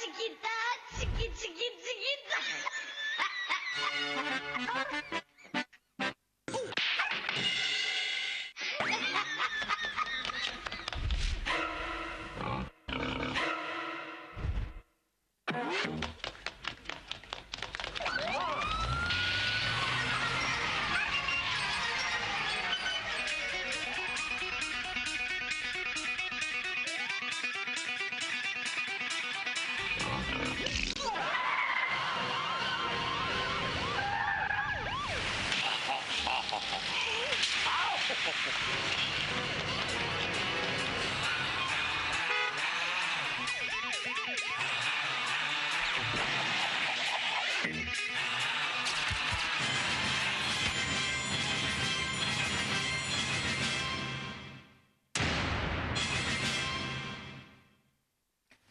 chiquita, chiquita.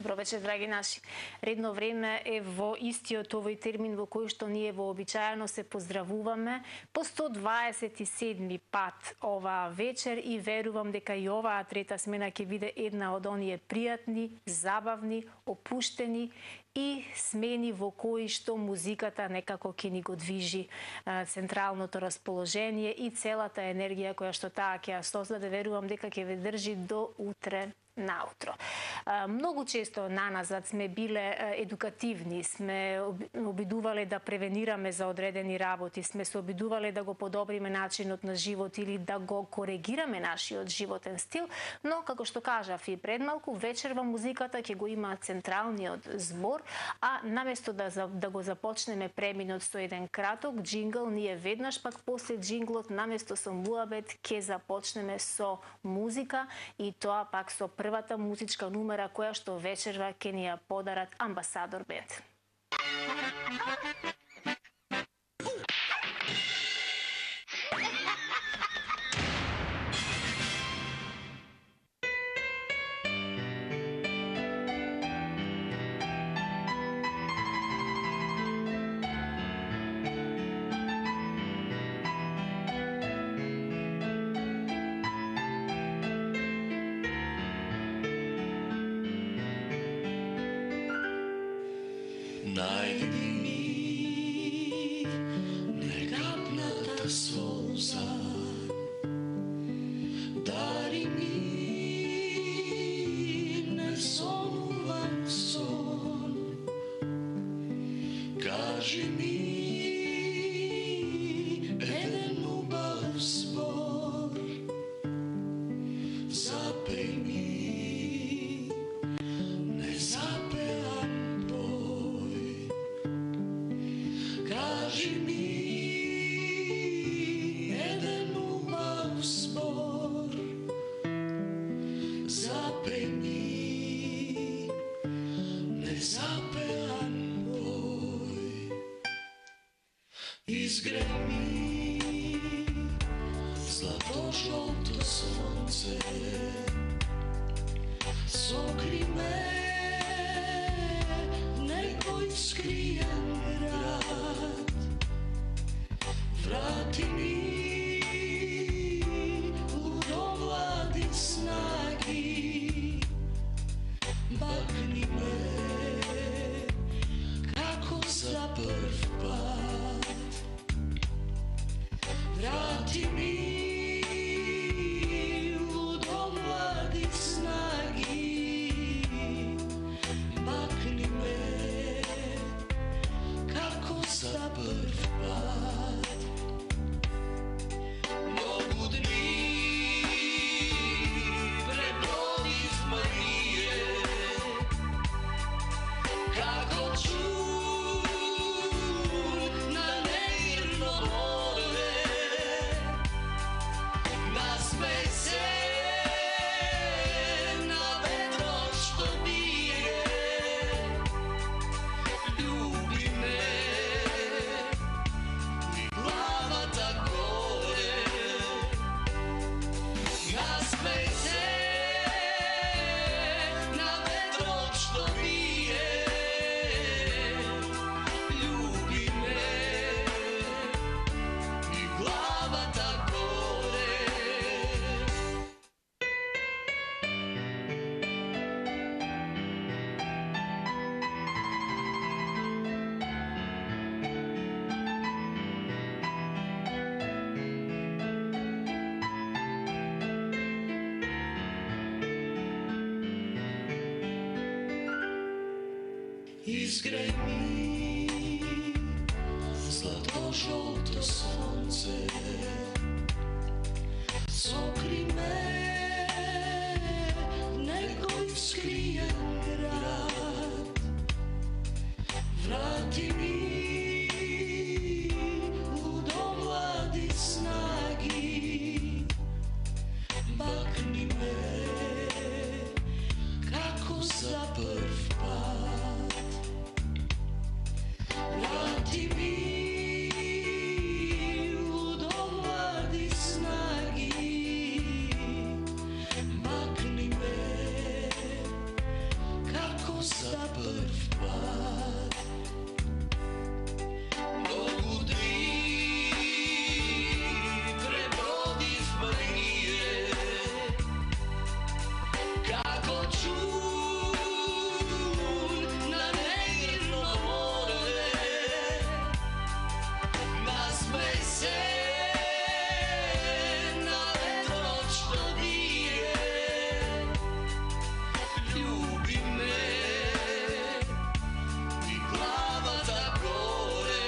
Добро вечер, драги наши. Редно време е во истиот овој термин во кој што ние вообичаено се поздравуваме по 127 пат ова вечер и верувам дека и оваа трета смена ќе биде една од оние пријатни, забавни, опуштени и смени во кои што музиката некако ќе ни го движи централното расположение и целата енергија која што таа ќе ја создаде, верувам дека ќе ве држи до утре наутро. Многу често наназад сме биле едукативни, сме обидувале да превенираме за одредени работи, сме се обидувале да го подобриме начинот на живот или да го коригираме нашиот животен стил, но како што кажав и пред малку, вечерва музиката ќе го има централниот збор, а наместо да го започнеме преминот со еден краток джингл, ние веднаш пак после джинглот наместо со муабет ќе започнеме со музика и тоа пак со првата музичка numera која што вечерва ќе ни ја подарат Амбасадор бенд. Најди ми некапната солза, дари ми несонуван сон, кажи ми еден убав збор, запеј ми незапеан. Кажи ми еден убав збор, запеј ми незапеан бој. Изгреј ми злато-жолто сонце, сокри ме некој скриен град. Врати ми лудовлади снаги, бакни ме како за прв пат. Врати ми лудовлади снаги, бакни ме како за прв пат. Изграј ми злато-жолто сонце, сокри ме некој скриен град, врати ми у млади снаги, бакни ме како за прв пат. Врати ми лудо млади снаги, макни ме како за прв пат. Многу дни пребродивме ние, како чур на негрно море. Насмеј се на ветрот што вие, љуби ме и главата горе.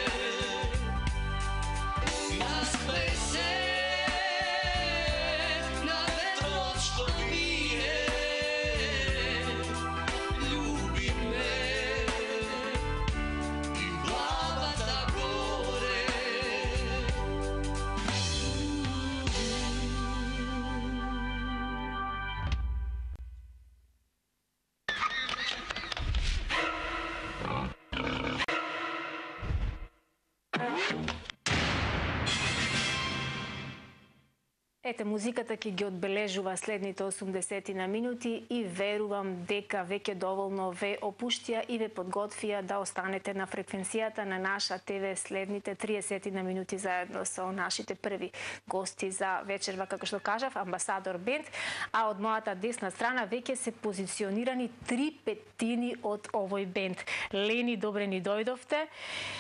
Насмеј се на ветрот што вие, љуби ме и главата горе. Ете, музиката ќе ги одбележува следните 80 на минути и верувам дека веќе доволно ве опуштија и ве подготвија да останете на фреквенцијата на наша ТВ следните 30 на минути заедно со нашите први гости за вечерва, како што кажав, Амбасадор Бенд, а од мојата десна страна веќе се позиционирани 3/5 од овој бенд. Лени, добре ни дојдовте.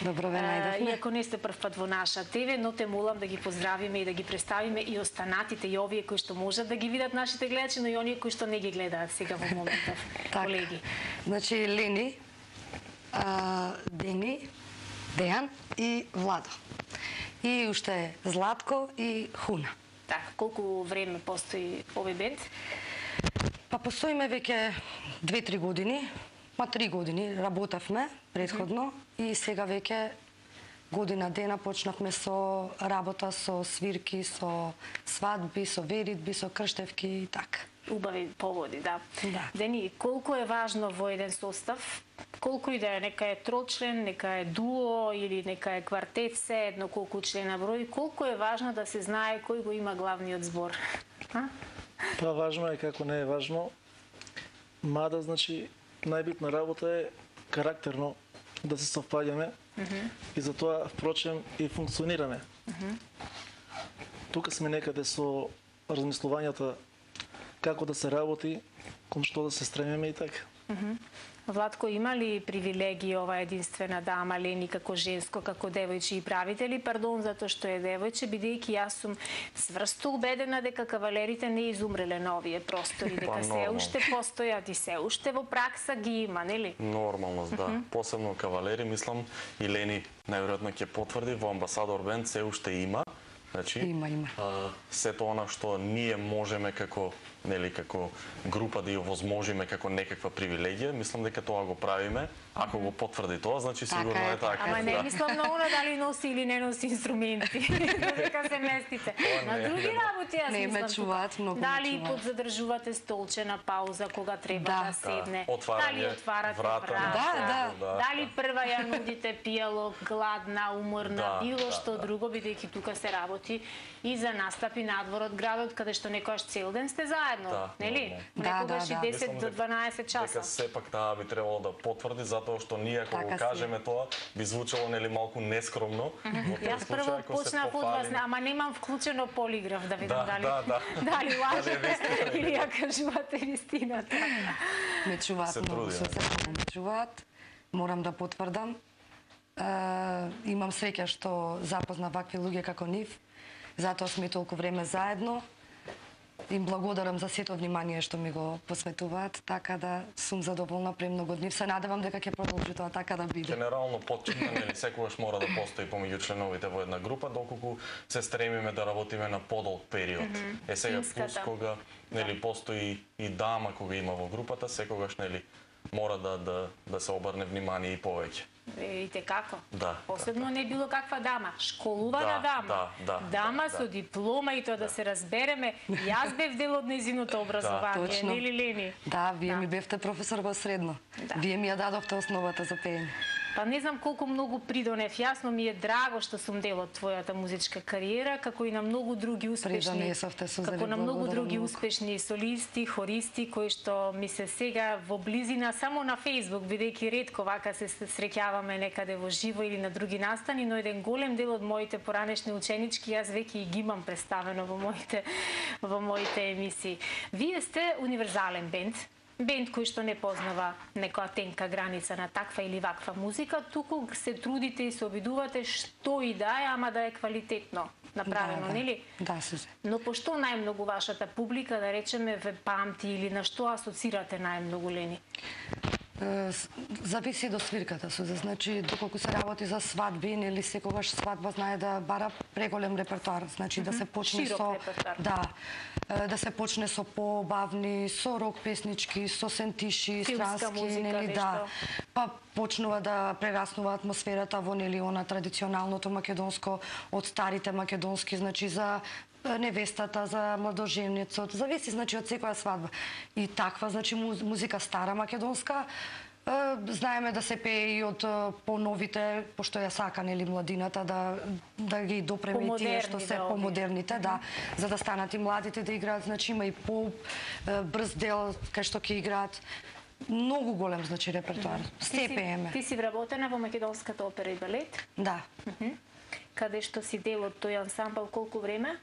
Добро ве најдовме. Иако не сте прв пат во наша ТВ, но те молам да ги поздравиме и да ги представиме и останатите, и овие кои што можат да ги видат нашите гледачи, но и оние кои што не ги гледаат сега во моментов, колеги. Значи Лени, Дени, Дејан и Владо. И уште Златко и Хуна. Така, колку време постои овој бенд? Па постоиме веќе 2-3 години, 3 години работевме претходно и сега веќе година дена почнавме со работа, со свирки, со свадби, со веридби, со крштевки и така. Убави поводи, да. Да. Дени, колку е важно во еден состав, колку и да е, нека е трочлен, нека е дуо или нека е квартет, се едно колку члена број, колку е важно да се знае кој го има главниот збор? Па важно е како не е важно. Мада, значи, најбитна работа е карактерно да се совпаѓаме и затоа, впрочем, и функционираме. Тука сме некаде со размислувањата како да се работи, кон што да се стремиме и така. Владко, има ли привилегии ова единствена дама, Лени, како женско, како девојче и правители? Пардон, затоа што е девојче, бидејќи јас сум сврсто убедена дека кавалерите не изумреле на овие простори, дека се уште постојат и се уште во пракса ги има, нели? Нормалност, да. Посебно кавалери, мислам, и Лени најверојатно ќе потврди, во Амбасадор Бенд се уште има. Значи, Има. Сето она што ние можеме како, нели, како група да ја овозможиме како некаква привилегија, мислам дека тоа го правиме. Ако го потврди тоа, значи сигурно е така. Ама не мислам на она дали носи или не носи инструменти, дека се местите. На други работи јас Не ме мислам. чуваат, многу ме Дали чуваат. подзадржувате столчена пауза кога треба да седне, дали отварате врата. Дали прва ја нудите пијало, гладна, уморна, било што друго, бидејќи тука се работи и за настапи надвор од градот, каде што некојаш цел ден сте заедно, нели? Некогаш и 10 до 12 часа. Дека сепак таа би требало да потврди, затоа што ние ако го кажеме тоа, би звучало нели малку нескромно. Јас прво почнав од вас, ама немам вклучено полиграф да видам дали дали лажете или ја кажувате вистината. Ме чуваат многу, со срце ме чуваат. Морам да потврдам. Имам среќа што запозна вакви луѓе како нив. Затоа сме толку време заедно. им благодарам за сето внимание што ми го посветуваат, така да сум задоволна премногу од нив. Се надевам дека ќе продолжи тоа така да биде. Генерално потчетна, нели, секогаш мора да постои помеѓу членовите во една група, доколку се стремиме да работиме на подолг период. Сега плюс кога нели постои и дама кога има во групата, секогаш нели мора да се обрне внимание и повеќе. Видите како? Да. Посебно не било каква дама, школувана дама. Дама со диплома и тоа да се разбереме. Јас бев дел од нејзиното образование, Точно. нели Лени? Да, вие ми бевте професор во средно. Вие ми ја дадовте основата за пеење. Па не знам колку многу придонев. Јасно ми е драго што сум дел од твојата музичка кариера, како и на многу други успешни. Придонесовте, Сузани, како на многу благодарам други многу. успешни солисти, хористи кои што ми се сега во близина само на Facebook, бидејќи ретко вака се среќаваме некаде во живо или на други настани, но еден голем дел од моите поранешни ученички јас веќе и ги имам представено во моите емисии. Вие сте универзален бенд. Бенд кој што не познава некоја тенка граница на таква или ваква музика, туку се трудите и се обидувате што и да е, ама да е квалитетно направено, нели? Да, Сузе. Но пошто најмногу вашата публика, да речеме, ве памти или на што асоцирате најмногу, Лени? Зависи до свирката, Сузе. Значи, доколку се работи за свадби, нели секогаш свадба знае да бара преголем репертоар. Значи, да се почне Широк со... репертоар. Да се почне со побавни, со рок песнички, со сентиши, Филмска странски, музика, нели, нешто. да. Па почнува да прераснува атмосферата во, нели, она традиционалното македонско, од старите македонски, значи, за невестата, за младоженецот, зависи, значи, од секоја свадба. И таква, значи, музика стара македонска, знаеме да се пее и од поновите, пошто ја сака, нели, младината, да ги допреме и тие што се помодерните, да, за да станат и младите да играат, значи, има и по-брз дел кај што ќе играат. Многу голем, значи, репертоар. Се пееме. Ти си вработена во Македонската опера и балет, Да. каде што си дел од тој ансамбл колку време?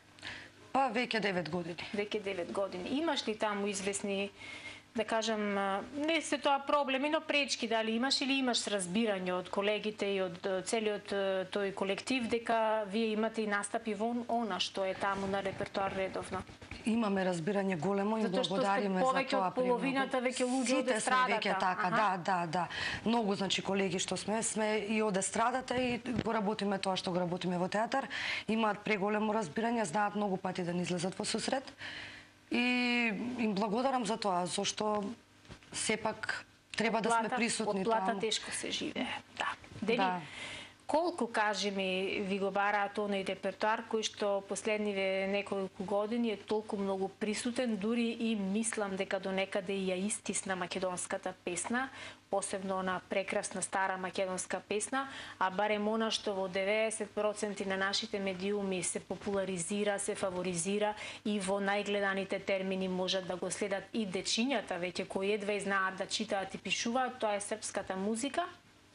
Па веќе 9 години. Веќе 9 години. Имаш ли таму известни, да кажам, не се тоа проблеми, но пречки, дали имаш или имаш разбирање од колегите и од целиот тој колектив дека вие имате и настапи во она што е таму на репертоар редовно? Имаме разбирање големо и Затоа што благодариме сте за повеќе тоа. од половината веќе луѓе од Сите сме естрадата. веќе така, да. Многу, значи, колеги што сме и од естрадата и го работиме тоа што го работиме во театар. Имаат преголемо разбирање, знаат многу пати да ни излезат во сусрет. И им благодарам за тоа, зашто сепак треба да сме присутни од плата таму. тешко се живее. Да. Дени, Да. колку, кажи ми, ви го бараат оној репертоар кој што последниве неколку години е толку многу присутен, дури и мислам дека до некаде и ја истисна македонската песна, посебно на прекрасна стара македонска песна, а барем она што во 90% на нашите медиуми се популаризира, се фаворизира и во најгледаните термини можат да го следат и дечињата веќе кои едва знаат да читаат и пишуваат, тоа е српската музика,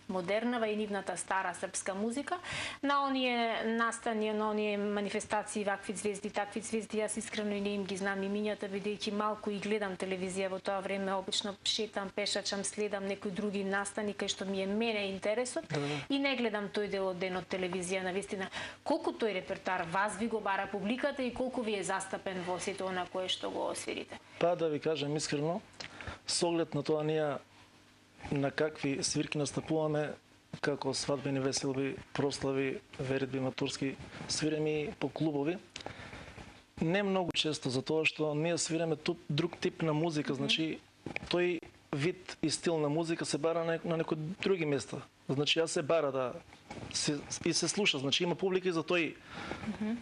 модернава и нивната стара српска музика, на оние настани, на оние манифестации, вакви звезди, такви звезди, јас искрено и не им ги знам имињата, бидејќи малку и гледам телевизија во тоа време, обично шетам, пешачам, следам некои други настани кај што ми е мене интересот и не гледам тој дел од денот телевизија, навистина. Колку тој репертоар вас ви го бара публиката и колку ви е застапен во сето она кое што го освирите? Па да ви кажам искрено, со оглед на тоа ние на какви свирки настапуваме, како свадбени веселби, прослави, веридби, матурски, свиреме по клубови. Не многу често, затоа што ние свиреме друг тип на музика, значи тој вид и стил на музика се бара на некои други места. Значи јас се бара да се слуша, значи има публика и за тој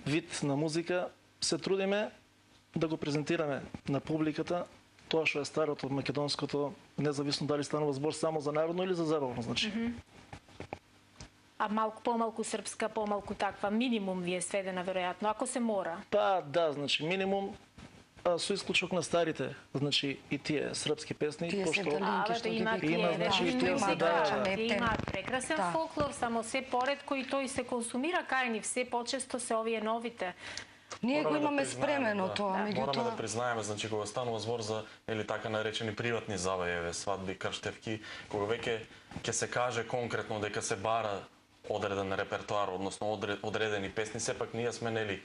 вид на музика, се трудиме да го презентираме на публиката тоа што е старото македонското, независно дали станува збор само за народно или за забавно, значи. А малку помалку српска, помалку таква, минимум ви е сведена веројатно, ако се мора. Па да, значи минимум со исклучок на старите, значи и тие српски песни, Тие се пошто талинки што ги има пееме. Има, значи, тие тие се да. имаат прекрасен Да. фолклор, само се поретко и тој се консумира кај нив, се почесто се овие новите. Ние го Мораме да имаме признаеме, спремено да. тоа, Мораме да меѓутоа признаеме, значи кога станува збор за или така наречени приватни забави, свадби, крштевки, кога веќе ќе се каже конкретно дека се бара одреден репертоар, односно одредени песни, сепак ние сме нели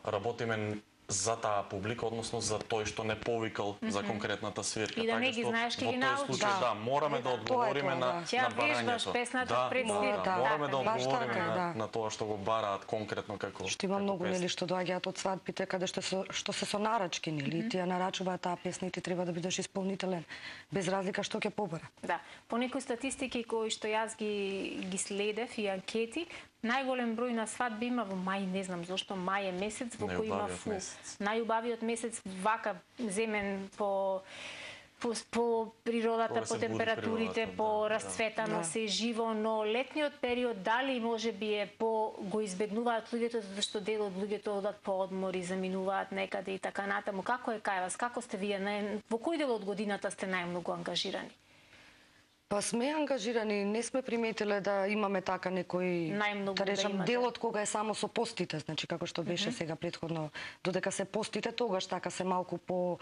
работиме за таа публика, односно за тој што не повикал за конкретната свирка. И да не ги знаеш, ке ги во тој научиш. случај, да, мораме да одговориме на Ќе ја вежбаш барањето. песната пред свирка. Мораме да Баш одговориме така, на тоа што го бараат конкретно како Што има како многу песна. нели што доаѓаат од свадбите каде што се со нарачки нели, тие нарачуваат таа песна и ти треба да бидеш исполнителен без разлика што ќе побара. Да, по некои статистики кои што јас ги следев и анкети, најголем број на свадби има во мај, не знам зошто, мај е месец во кој има Најубавиот фул. месец. Најубавиот месец вака земен по природата, Кога по се буди температурите, природата, по да, расцветано да. се живо, но летниот период дали може би е го избегнуваат луѓето затоа што дел од луѓето одат по одмори, заминуваат некаде и така натаму. Како е кај вас? Како сте вие? Во кој дел од годината сте најмногу ангажирани? Па сме ангажирани, не сме приметиле да имаме така некој, Најмногу да да речам, имате. делот кога е само со постите, значи како што беше сега претходно, додека се постите, тогаш така се малку по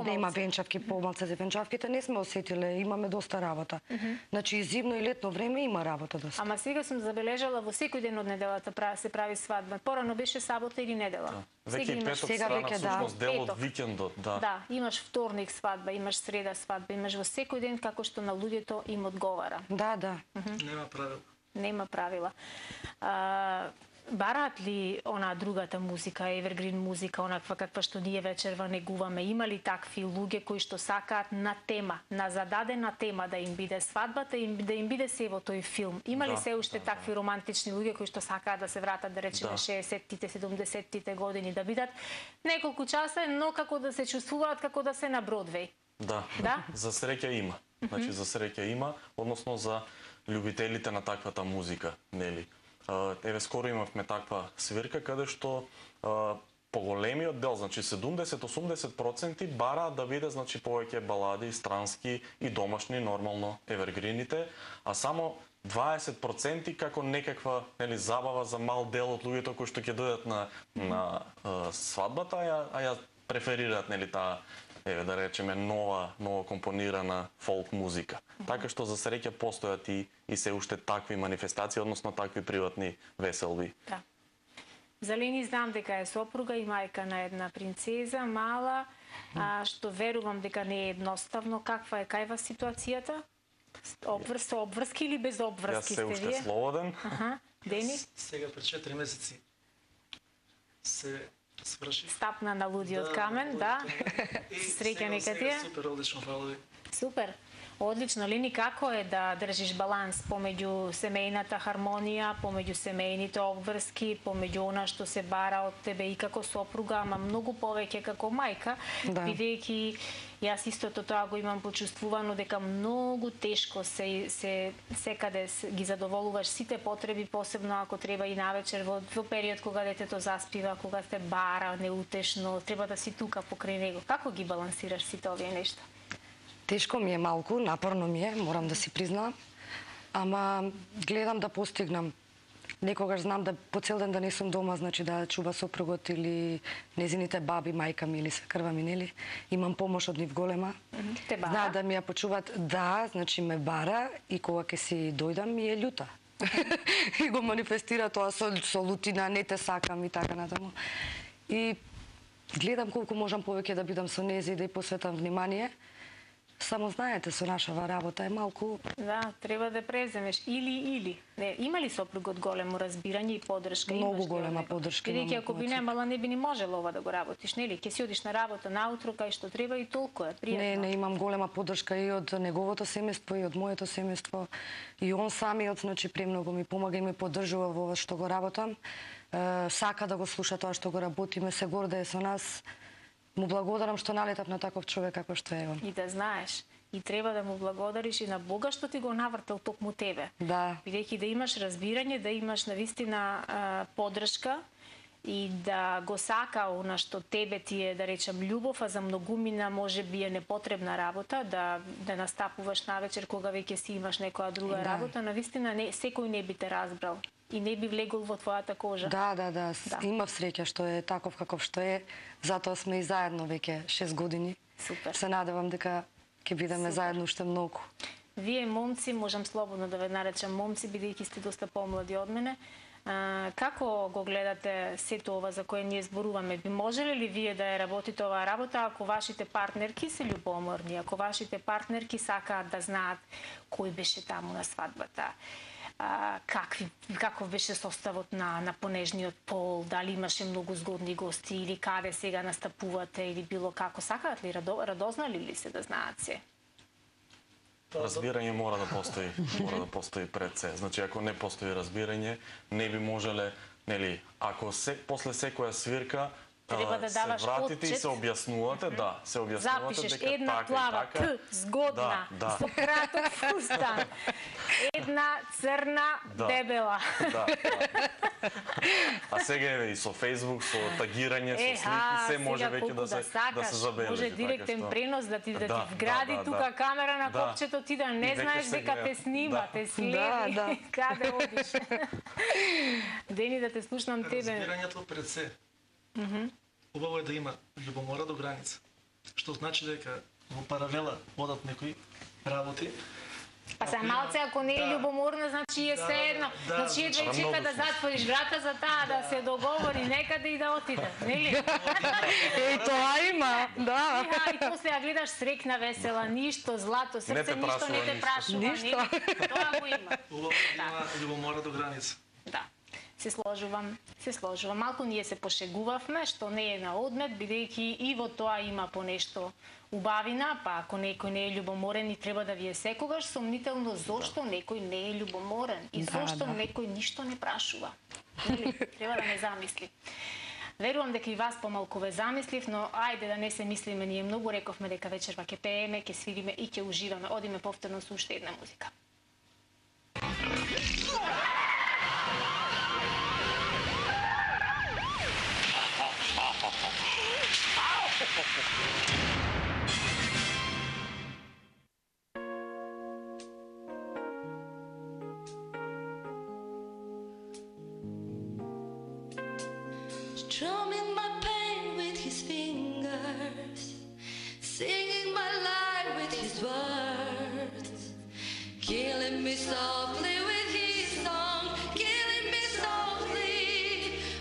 не има венчавки, помалце за венчавките, не сме осетиле, имаме доста работа. Значи и зимно и летно време има работа доста. Ама сега сум забележала во секој ден од неделата се прави свадба. Порано беше сабота или недела. Веќе и петок сега страна веќе, да. всушност дел од Петок. викендот, да. Да, имаш вторник свадба, имаш среда свадба, имаш во секој ден како што на луѓето им одговара. Да, да. Нема правила. Нема правила. Бараат ли она другата музика, евергрин музика, онаква каква што ние вечерва негуваме? Има ли такви луѓе кои што сакаат на тема, на зададена тема да им биде свадбата, да им биде се во тој филм? Има ли Да, се уште такви романтични луѓе кои што сакаат да се вратат, да речеме, 60-тите, 70-тите години, да бидат неколку часа, но како да се чувствуваат како да се на Бродвеј? Да. Да? За среќа има. Значи за среќа има, односно за љубителите на таквата музика, нели? Еве скоро имавме таква свирка каде што поголемиот дел, значи 70-80% бараат да биде значи повеќе балади, странски и домашни, нормално евергрините, а само 20% како некаква нели забава за мал дел од луѓето кои што ќе дојдат на свадбата, а ја преферираат нели таа еве да речеме нова компонирана фолк музика. Така што за среќа постојат и се уште такви манифестации, односно такви приватни веселби. Да. За Лени знам дека е сопруга и мајка на една принцеза, мала, што верувам дека не е едноставно. Каква е кај вас ситуацијата? Со обврски или без обврски Јас сте се уште вие? слободен. Дени? Сега пред 4 месеци се сврши. Стапна на лудиот камен, да. Среќа нека ти е. Супер, одлично, фала ви. Супер. Одлично. Лини, како е да држиш баланс помеѓу семејната хармонија, помеѓу семејните обврски, помеѓу она што се бара од тебе и како сопруга, ама многу повеќе како мајка, Да. бидејќи јас истото тоа го имам почувствувано дека многу тешко секаде ги задоволуваш сите потреби, посебно ако треба и навечер во период кога детето заспива, кога те бара неутешно, треба да си тука покрај него. Како ги балансираш сите овие нешта? Тешко ми е малку, напорно ми е, морам да си признаам, ама гледам да постигнам. Некогаш знам да по цел ден да не сум дома, значи да чува сопругот или незините баби, мајка ми или свекрва ми, нели? Имам помош од нив голема. Те бара? Знаат да ми ја почуваат, да, значи ме бара и кога ќе си дојдам ми е љута. И го манифестира тоа со лутина, не те сакам и така натаму. И гледам колку можам повеќе да бидам со незе и да ја посветам внимание. Само знаете, со нашава работа е малку... Да, треба да преземеш или. Не, има ли сопругот големо разбирање и поддршка? Многу Имаш ли голема од него? поддршка Бидејќи имам ако би од немала, не би ни можела ова да го работиш, нели? Ќе си одиш на работа наутро кај што треба и толку е пријатно. Не, имам голема поддршка и од неговото семејство и од моето семејство. И он самиот, значи, премногу ми помага и ме поддржува во ова што го работам. Сака да го слуша тоа што го работиме, се гордее со нас. Му благодарам што налетав на таков човек како што е он. И да знаеш, и треба да му благодариш и на Бога што ти го навртел токму тебе. Да. Бидејќи да имаш разбирање, да имаш навистина поддршка и да го сака она што тебе ти е, да речам, љубов, а за многумина може би е непотребна работа, да настапуваш навечер кога веќе си имаш некоја друга работа, навистина секој не би те разбрал и не би влегол во твојата кожа. Да. Имав среќа што е таков каков што е, затоа сме и заедно веќе 6 години. Супер. Се надевам дека ќе бидеме заедно уште многу. Вие момци, можам слободно да ве наречам момци, бидејќи сте доста помлади од мене, Како го гледате сето ова за кое ние зборуваме? Би можеле ли вие да ја работите оваа работа ако вашите партнерки се љубоморни, ако вашите партнерки сакаат да знаат кој беше таму на свадбата? Каков беше составот на понежниот пол, дали имаше многу згодни гости или каде сега настапувате или било како, сакаат ли, радознали ли се да знаат се? Разбирање мора да постои пред се. Значи ако не постои разбирање, не би можеле, нели, ако после секоја свирка треба да даваш се вратите отчет. и се објаснувате, да, се објаснувате Запишеш дека една така плава, и така. згодна, Да. со краток фустан, една црна, дебела. Да. А сега еве и со Facebook, со тагирање, со слики, се може веќе да се забележи. Може директен пренос да ти вгради да, тука камера на копчето, ти да не знаеш дека те снима, те следи, каде одиш. Дени, да те слушнам тебе. Разбирањето пред се. Убаво е да има љубомора до граница. Што значи дека во паралела одат некои работи. Па се малце, ако не е љубоморна, значи е се едно. Значи едва и чека да затвориш врата за таа, да се договори некаде и да отиде, нели? Тоа има, да. И после ја гледаш срекна, весела, ништо, злато, срце, ништо не те прашува, нели? Тоа го има. Убаво да има љубомора до граница. Да. Се сложувам. Малку ние се пошегувавме, што не е на одмет, бидејќи и во тоа има понешто убавина, па ако некој не е љубоморен и треба да ви е секогаш сомнително зошто некој не е љубоморен и зошто некој ништо не прашува. Нели? Треба да не замисли. Верувам дека и вас помалку ве замислив, но ајде да не се мислиме, ние многу рековме дека вечерва ќе пееме, ќе свириме и ќе уживаме. Одиме повторно со уште една музика. Strumming my pain with his fingers, singing my life with his words, killing me softly with his song, killing me softly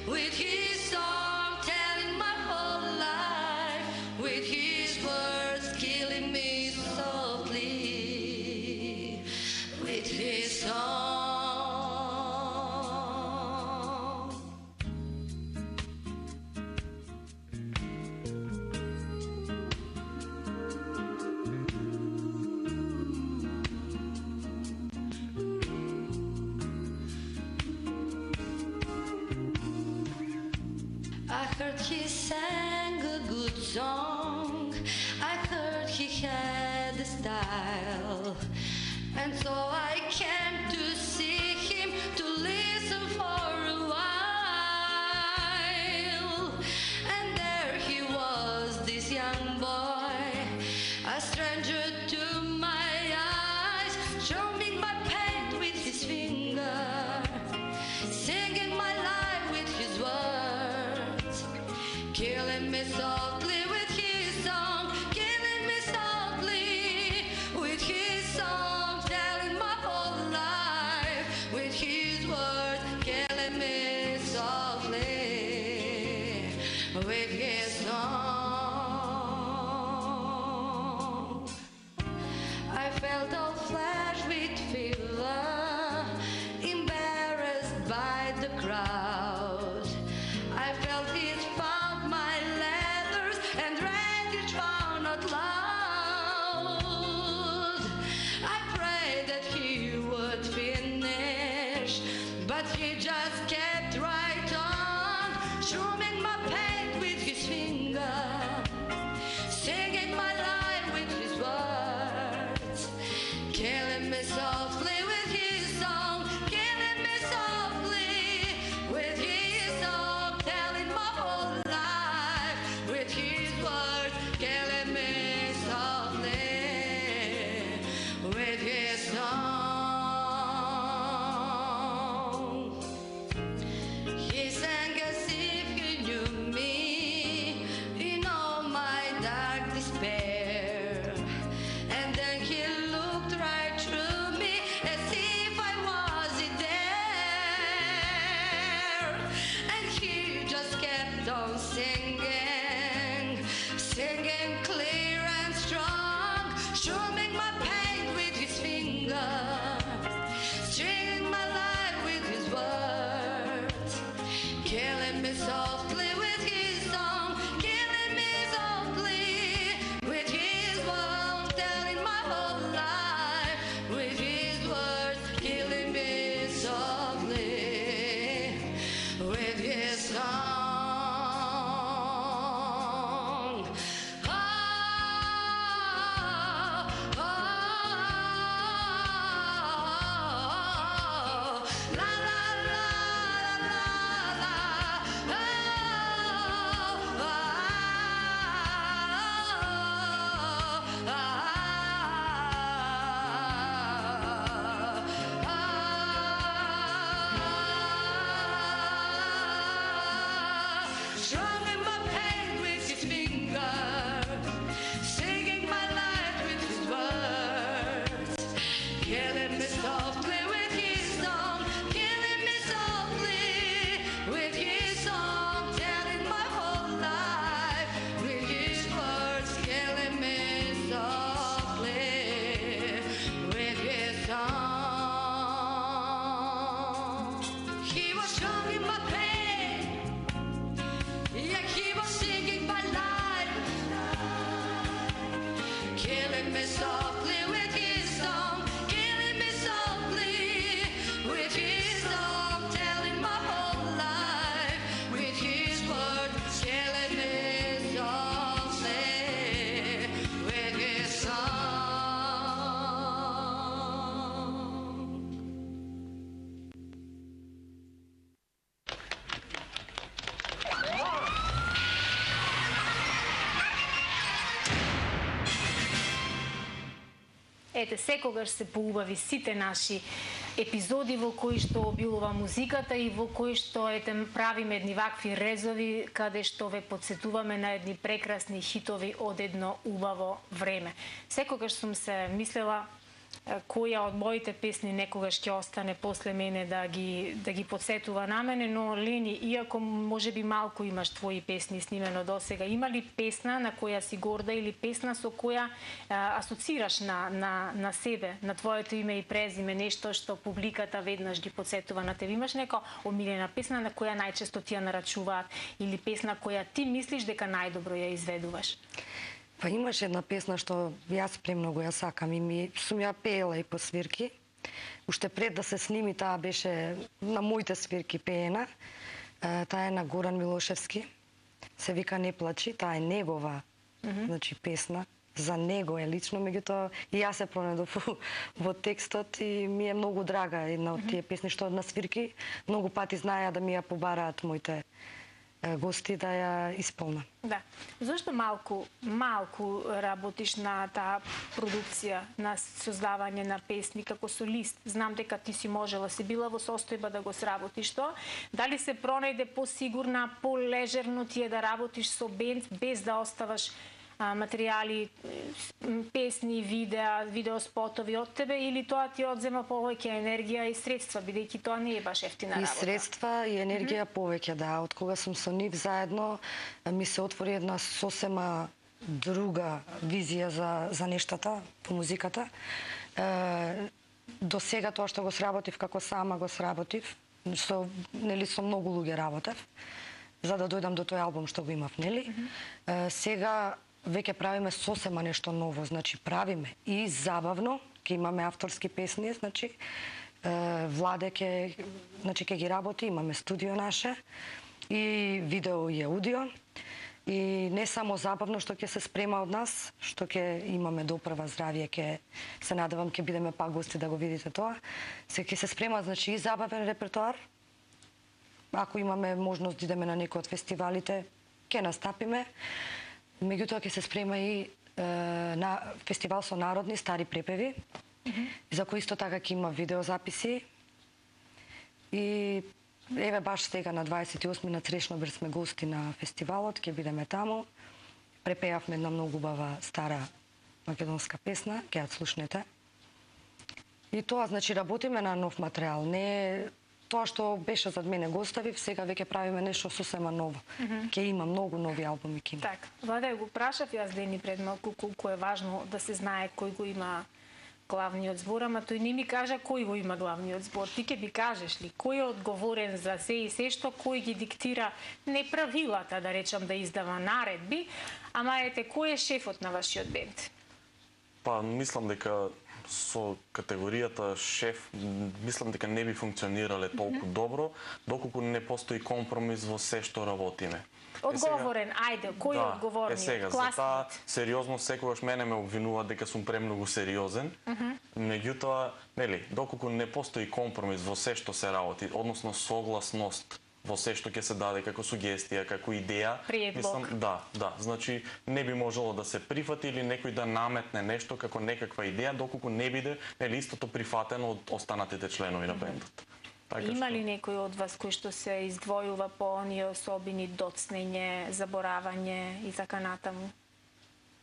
with his song, telling my whole life with his words, killing me softly with his song. I heard he sang a good song, I heard he had a style, and so I came to see him, to listen for a while. And there he was, this young boy, a stranger to my eyes, strumming my pain with his finger, singing my life with his words, killing me softly with his song, killing me softly with his song, telling my whole life with his words, killing me softly with his song. I felt all flash with fever, embarrassed by the crowd. I felt it found my leathers, Ете, секогаш се поубави сите наши епизоди во кои што обилува музиката и во кои што правиме едни вакви резови каде што ве подсетуваме на едни прекрасни хитови од едно убаво време. Секогаш сум се мислела која од моите песни некогаш ќе остане после мене да ги подсетува на мене, но Лени, иако можеби малку имаш твои песни снимено досега, има ли песна на која си горда или песна со која асоцираш на себе, на твоето име и презиме, нешто што публиката веднаш ги подсетува на тебе? Имаш нека омилена песна на која најчесто ти ја нарачуваат или песна која ти мислиш дека најдобро ја изведуваш? Па имаш една песна што јас премногу ја сакам и сум ја пеела и по свирки. Уште пред да се сними, таа беше на моите свирки пеена. Таа е на Горан Милошевски. Се вика Не плачи, таа е негова значи песна. За него е лично, меѓутоа и јас се пронедов во текстот и ми е многу драга една од тие песни што на свирки многу пати знаеа да ми ја побараат моите гости да ја исполна. Да. Зошто малку работиш на таа продукција, на создавање на песни како солист? Знам дека ти си можела, си била во состојба да го сработиш тоа. Дали се пронајде посигурна, полежерно ти е да работиш со бенд без да оставаш материјали, песни, видеоспотови од тебе, или тоа ти одзема повеќе енергија и средства, бидејќи тоа не е баш ефтина работа? И средства и енергија повеќе, да. Од кога сум со нив заедно, ми се отвори една сосема друга визија за нештата, по музиката. До сега тоа што го сработив како сама го сработив, со многу луѓе работев, за да дојдам до тој албум што го имав, нели? Сега веќе правиме сосема нешто ново, значи правиме и забавно, ќе имаме авторски песни, значи Владе ќе ги работи, имаме студио наше и видео и аудио. И не само забавно што ќе се спрема од нас, што ќе имаме допрва здравје, ќе се надевам ќе бидеме пак гости да го видите тоа. Се ќе се спрема значи и забавен репертоар. Ако имаме можност да идеме на некој од фестивалите, ќе настапиме. Меѓутоа ќе се спрема и на фестивал со народни стари препеви, за кој исто така ќе има видеозаписи. И еве баш сега на 28 на Црешнобер сме гости на фестивалот, ќе бидеме таму. Препеавме една многу убава стара македонска песна, ќе ја слушнете. И тоа значи работиме на нов материјал, не тоа што беше зад мене го оставив, сега веќе правиме нешто сосема ново. Ќе има многу нови албуми ќе има. Така, Владе, го прашав јас Дени пред малку колку е важно да се знае кој го има главниот збор, ама тој не ми кажа кој го има главниот збор. Ти ќе ми кажеш ли кој е одговорен за се и се што, кој ги диктира не правилата, да речам, да издава наредби, ама ете кој е шефот на вашиот бенд? Па мислам дека со категоријата шеф, мислам дека не би функционирале толку добро, доколку не постои компромис во се што работиме. Одговорен, ајде, кој е одговорниот? Сега, за таа сериозно секогаш мене ме обвинуваат дека сум премногу сериозен, меѓутоа, нели, доколку не постои компромис во се што се работи, односно согласност во се што ќе се даде како сугестија, како идеја, мислам, да, значи не би можело да се прифати или некој да наметне нешто како некаква идеја, доколку не биде нели истото прифатено од останатите членови на бендот. Има ли некој од вас кој што се издвојува по оние особини доцнење, заборавање и така натаму?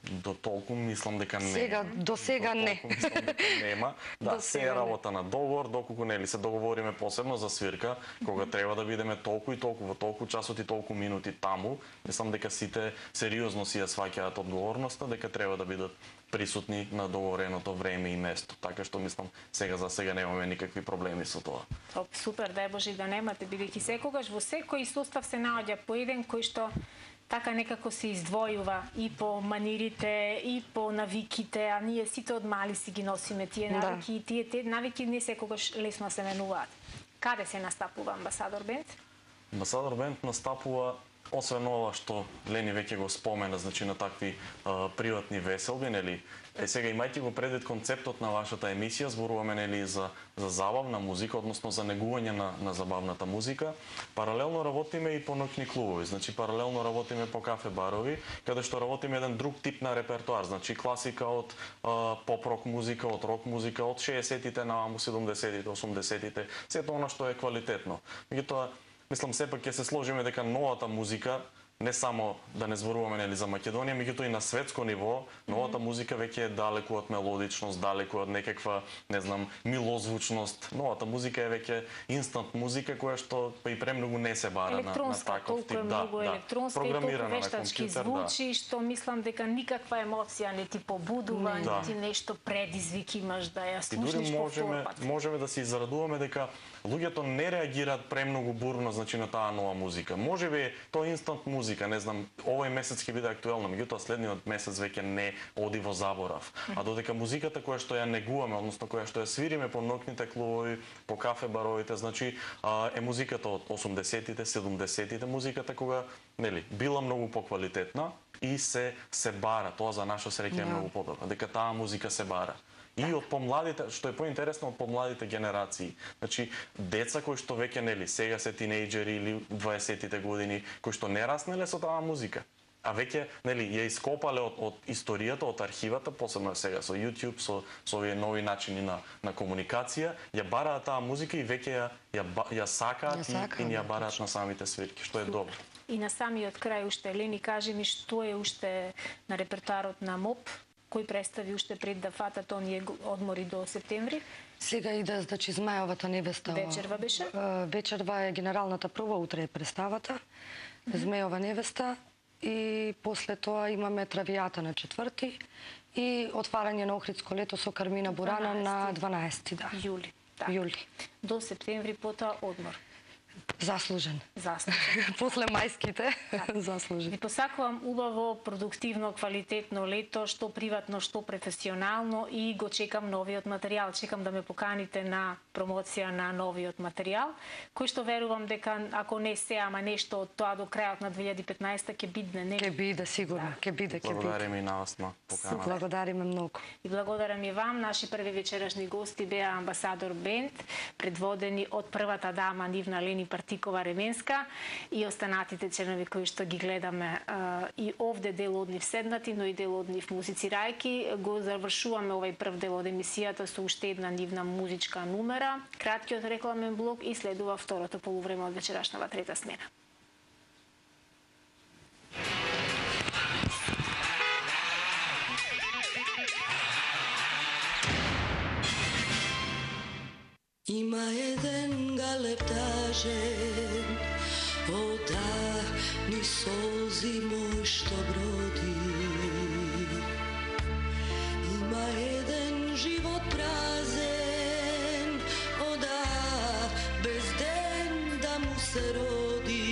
До толку мислам дека не. Сега, до сега не. Мислам дека нема. Да, се е работа на договор, доколку нели се договориме посебно за свирка, кога треба да бидеме толку и толку во толку часот и толку минути таму, мислам дека сите сериозно си ја сваќаат одговорноста, дека треба да бидат присутни на договореното време и место. Така што мислам сега за сега немаме никакви проблеми со тоа. Супер, дај Боже да немате, бидејќи секогаш во секој состав се наоѓа по еден кој што така некако се издвојува и по манирите, и по навиките, а ние сите од мали си ги носиме тие навики, и тие навики не секогаш лесно се менуваат. Каде се настапува Амбасадор Бенд? Амбасадор Бенд настапува освен ова што Лени веќе го спомена, значи на такви приватни веселби, нели? Сега имајќи го предвид концептот на вашата емисија, зборуваме нели за забавна музика, односно за негување на забавната музика. Паралелно работиме и по ноќни клубови, значи паралелно работиме по кафе барови, каде што работиме еден друг тип на репертоар, значи класика од поп-рок музика, од рок музика, од 60-тите наваму 70-тите, 80-тите, сето она што е квалитетно. Меѓутоа, мислам сепак ќе се сложиме дека новата музика, не само да не зборуваме нели за Македонија, меѓутоа и на светско ниво, новата музика веќе е далеку од мелодичност, далеку од некаква, не знам, милозвучност. Новата музика е веќе инстант музика која што па и премногу не се бара на таков тип. Многу електронска и толку вештачки звучи, што мислам дека никаква емоција не ти побудува, не ти нешто предизвик имаш да ја слушнеш повторпат. Можеме да се зарадуваме дека луѓето не реагираат премногу бурно, значи на таа нова музика. Можеби тоа инстант музика, не знам, овој месец ќе биде актуелно, меѓутоа следниот месец веќе не оди во заборав. А додека музиката која што ја негуваме, односно која што ја свириме по ноќните клубови, по кафе баровите, значи е музиката од 80-тите, 70-тите, музиката кога нели била многу поквалитетна и се бара, тоа за наша среќа е многу подобро, дека таа музика се бара. И од помладите, што е поинтересно, од помладите генерации. Значи, деца кои што веќе нели сега се тинејџери или 20-тите години, кои што не раснеле со таа музика, а веќе нели ја ископале од историјата, од архивата, посебно сега со YouTube, со овие нови начини на комуникација, ја бараат таа музика и веќе ја сакаат и ја бараат на самите свирки, што е добро. И на самиот крај уште, Лени, кажи ми што е уште на репертоарот на МОП, кој представи уште пред да фатат оние одмори до септември? Сега иде, значи, Змајовата невеста. Вечерва беше? Вечерва е генералната прва, утре е представата. Змејова невеста. И после тоа имаме Травијата на 4-ти и отварање на Охридско лето со Кармина Бурана на 12-ти, да. Јули. До септември потоа одмор. Заслужен. После мајските, заслужен. Ви посакувам убаво, продуктивно, квалитетно лето, што приватно, што професионално, и го чекам новиот материјал. Чекам да ме поканите на промоција на новиот материјал, кој што верувам дека ако не се, ама нешто од тоа до крајот на 2015 ќе бидне. Ќе биде, сигурно, ќе биде. Благодариме и на вас на поканата. Благодариме многу. И благодарам и вам. Наши први вечерашни гости беа Амбасадор Бенд, предводени од првата дама Нивна Лени Партикова-Ременска, и останатите членови кои што ги гледаме и овде дел од нив седнати, но и дел од нив музицирајки. Го завршуваме овој прв дел од емисијата со уште една нивна музичка numera, краткиот рекламен блок, и следува второто полувреме од вечерашната трета смена. Има еден галептажен, одахни солзи мој што броди. Има еден живот празен, одах без ден да му се роди.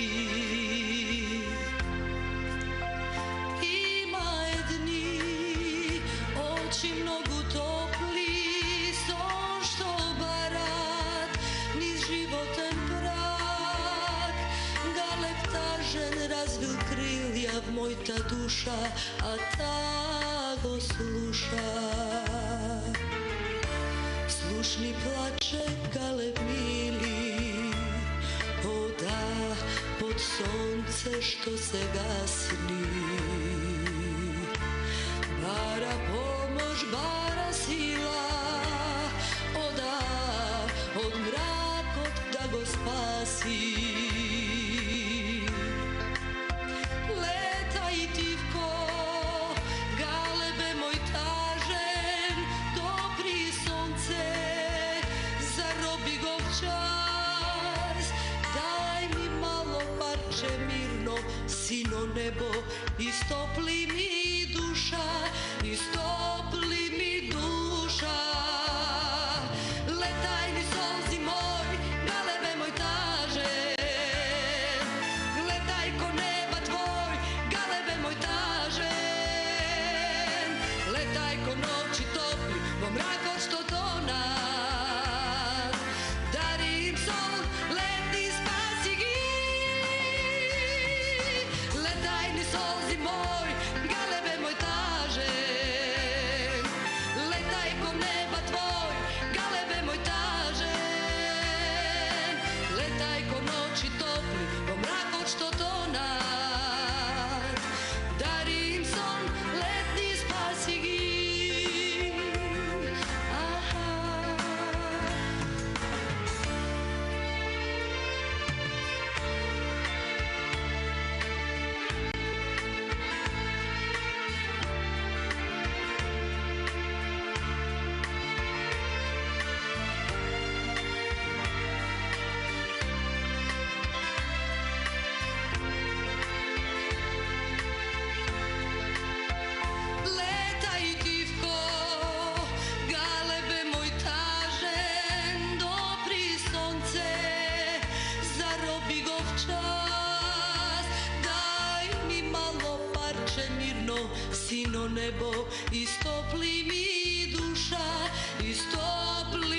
Има едни очи многу топли, сон што барат низ животен прак. Галептажен развил крилја в мојта душа, а та го слуша. Слушни плаче галеб мили, одах под сонце што се гасни. Бара помош, бара сила, одах од мракот да го спаси. Летај тивко, галебе мој тажен, допри сонце, зароби го в час. Дај ми мало парче мирно, сино небо, истопли ми душа, истопли ми душа. Летај ни солзи мој, галебе мој тажен, гледај ко неба твој, галебе мој тажен. Летај ко ноќи топли, во мракот што тонат, дари им сон, лети спаси ги. сино небо, истопли ми душа, истопли